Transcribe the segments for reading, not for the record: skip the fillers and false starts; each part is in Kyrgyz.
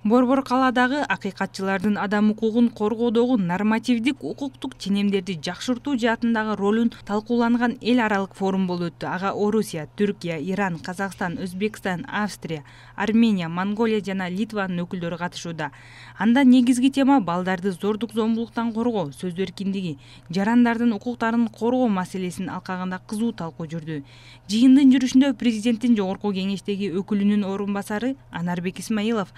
Борбор калаадагы акыйкатчылардын адам укугун коргоодогу нормативдик укуктук ченемдерди жакшыртуу жаатындагы ролун талкууланган эл аралык форум болуп өттү. Ага Орусия, Түркия, Иран, Казакстан, Өзбекстан, Австрия, Армения, Монголия жана Литванын өкүлдөрү катышууда. Анда негизги тема балдарды зордук зомбулуктан коргоо, сөз эркиндиги, жарандардын укуктарын коргоо маселесин алкагында кызуу талкуу жүрдү. Жыйындын жүрүшүндө президенттин жогорку кеңештеги өкүлүнүн орун басары Анарбек Исмаилов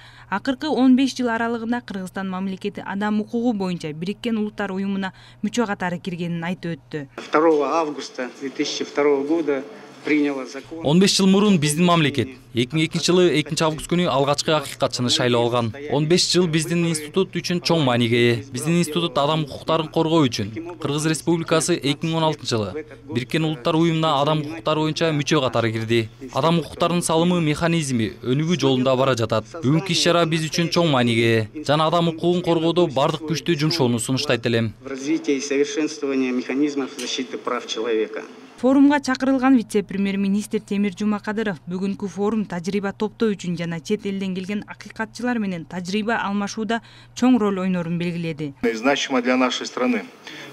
15 жыл аралыгында Кыргызстан мамлекети адам укугу боюнча Бириккен Улуттар уюмуна мүчө катары киргенин айтып өттү. 2 августа 2002 года 15 жыл мурун биздин мамлекет 2002 жылы 2 август күнү алгачкы акыйкатчыны шайлап алган. 15 жыл биздин институт үчүн чоң мааниге ээ. Биздин институт адам укуктарын коргоо үчүн Кыргыз Республикасы 2016 жылы Бириккен Улуттар уюмуна адам укуктары боюнча мүчө катары кирди. Адам укуктарынын салымы механизми өнүгүү жолунда бара жатат. Бүгүнкү иш-чара биз үчүн чоң мааниге ээ. Жана адам укугун коргоодо бардык күчтү жумшоону сунуштайт элем. В развитии и совершенствовании механизмов защиты прав человека. Форумга чакырылган вице-премьер-министр Темир Жумакадыров бүгүнкү форум тажрыйба топтоо үчүн жана чет элден келген акыйкатчылар менен тажрыйба алмашууда чоң роль ойнорун белгиледи. Значимо для нашей страны.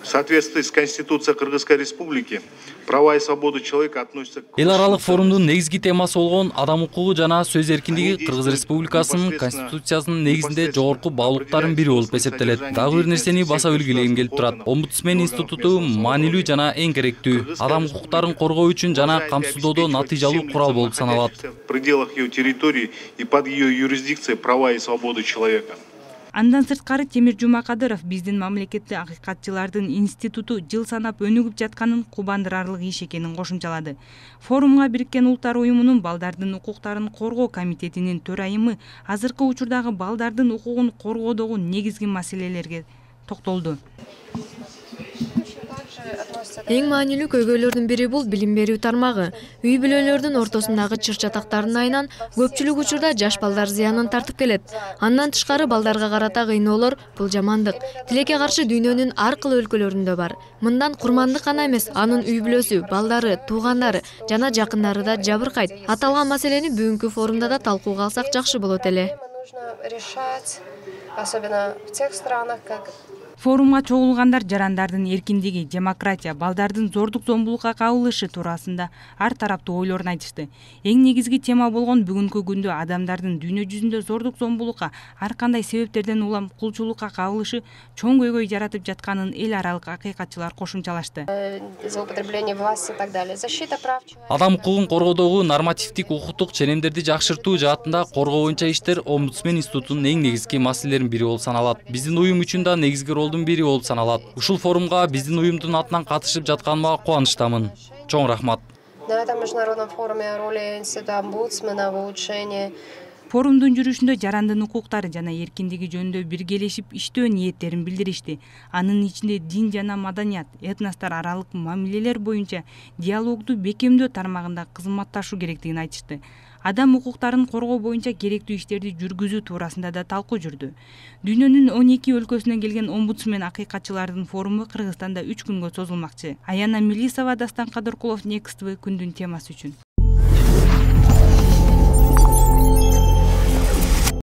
В соответствии с Конституцией Кыргызской Республики права и свободы человека относятся к... Эл аралык форумдун негизги темасы болгон адам укугу жана сөз эркиндиги Кыргыз Республикасынын Конституциясынын негизинде жогорку баалуулуктардын бири болуп эсептелет. Дагы бир нерсени баса белгилегим келип турат. Омбудсмен институту маанилүү жана эң керектүү. Адам укуктарын коргоо үчүн жана камсыздоодо натыйжалуу курал болуп саналат. В пределах ее территории и под ее юрисдикцией права и свободы человека. Андан сырткары Темир Жумакадыров биздин мамлекетти акыйкатчылардын институту жыл санап өнүгүп жатканын кубандырарлык иш экенин кошумчалады. Форумга Бириккен Улуттар уюмунун балдардын укуктарын коргоо комитетинин төрайымы азыркы учурдагы балдардын укугун коргоодогу негизги маселелерге токтолду. Эң маанилүү көйгөйлөрдүн бири бул билим берүү тармагы. Үй бүлөлөрдүн ортосундагы чыр-чатактардын айынан көпчүлүк учурда жаш балдар зыянын тартып келет. Андан тышкары балдарга карата кыйноолор бул жамандык. Тилекке каршы дүйнөнүн ар кыл өлкөлөрүндө бар. Мындан курмандык гана эмес, анын үй бүлөсү, балдары, туугандары жана жакындары да жабыркайт. Аталган маселени бүгүнкү форумда да талкууга алсак жакшы болот эле. Форумга чогулгандар жарандардын эркиндиги, демократия, балдардын зордук зомбулукка кабылышы туурасында ар тараптуу ойлорун айтышты. Эң негизги тема болгон бүгүнкү күндө адамдардын дүйнө жүзүндө зордук зомбулукка, ар кандай себептерден улам кулчулукка кабылышы чоң көйгөй жаратып жатканын эл аралык акыйкатчылар кошумчалашты. Адам укугун коргоодогу нормативдик укуктук ченемдерди жакшыртуу жаатында коргоо боюнча иштер Омбудсмен институтунун эң негизги маселелеринин бири болуп саналат. Биздин уюм үчүн да негизги ролдун бири болуп саналат. Ушул форумга биздин уюмдун атынан катышып жатканыма кубанычтамын. Чоң рахмат. На этом международном форуме о роли института омбудсмена в улучшении. Форумдун жүрүшүндө жарандын укуктары жана эркиндиги жөнүндө биргелешип иштөө ниеттерин билдиришти. Анын ичинде дин жана маданият, этностор аралык мамилелер боюнча диалогду бекемдөө тармагында кызматташуу керектигин айтышты. Адам укуктарын коргоо боюнча керектүү иштерди жүргүзүү туурасында да талкуу жүрдү. Дүйнөнүн 12 өлкөсүнөн келген омбудсмен акыйкатчылардын форуму Кыргызстанда 3 күнгө созулмакчы. Аяна Милисова, Дастан Кадыркулов, Next TV күндүн темасы үчүн.